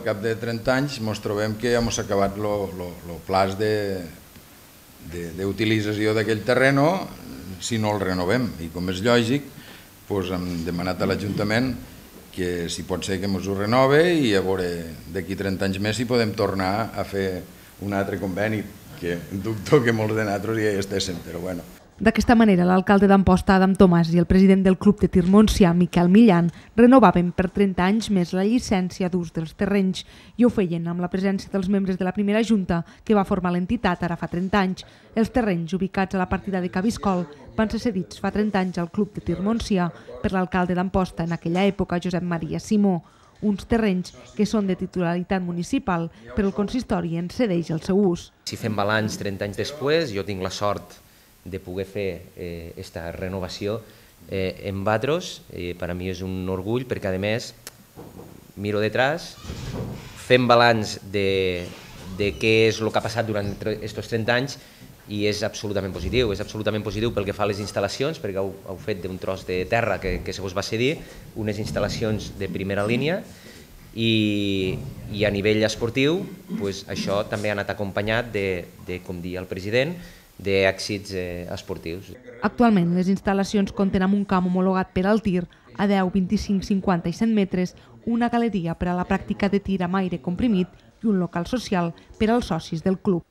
cap de 30 anys ens trobem que ja hem acabat el plaç d'utilització d'aquell terreno si no el renovem. I com és lògic, hem demanat a l'Ajuntament que si pot ser que ens ho renove i a veure d'aquí 30 anys més si podem tornar a fer un altre conveni, que dubto que molts de nosaltres ja hi estéssim, però bueno. D'aquesta manera, l'alcalde d'Amposta, Adam Tomàs, i el president del Club de Tir Montsià, Miquel Millan, renovaven per 30 anys més la llicència d'ús dels terrenys i ho feien amb la presència dels membres de la primera junta que va formar l'entitat ara fa 30 anys. Els terrenys ubicats a la partida de Cabiscol van ser cedits fa 30 anys al Club de Tir Montsià per l'alcalde d'Amposta en aquella època, Josep Maria Simó. Uns terrenys que són de titularitat municipal, però el consistori en cedeix el seu ús. Si fem balanç 30 anys després, jo tinc la sort de poder fer aquesta renovació en Batros. Per a mi és un orgull perquè, a més, miro detrás, fem balanç de què és el que ha passat durant aquests 30 anys i és absolutament positiu. És absolutament positiu pel que fa a les instal·lacions, perquè heu fet d'un tros de terra que se us va cedir, unes instal·lacions de primera línia, i a nivell esportiu això també ha anat acompanyat de, com deia el president, d'èxits esportius. Actualment, les instal·lacions compten amb un camp homologat per al tir a 10, 25, 50 i 100 metres, una galeria per a la pràctica de tir amb aire comprimit i un local social per als socis del club.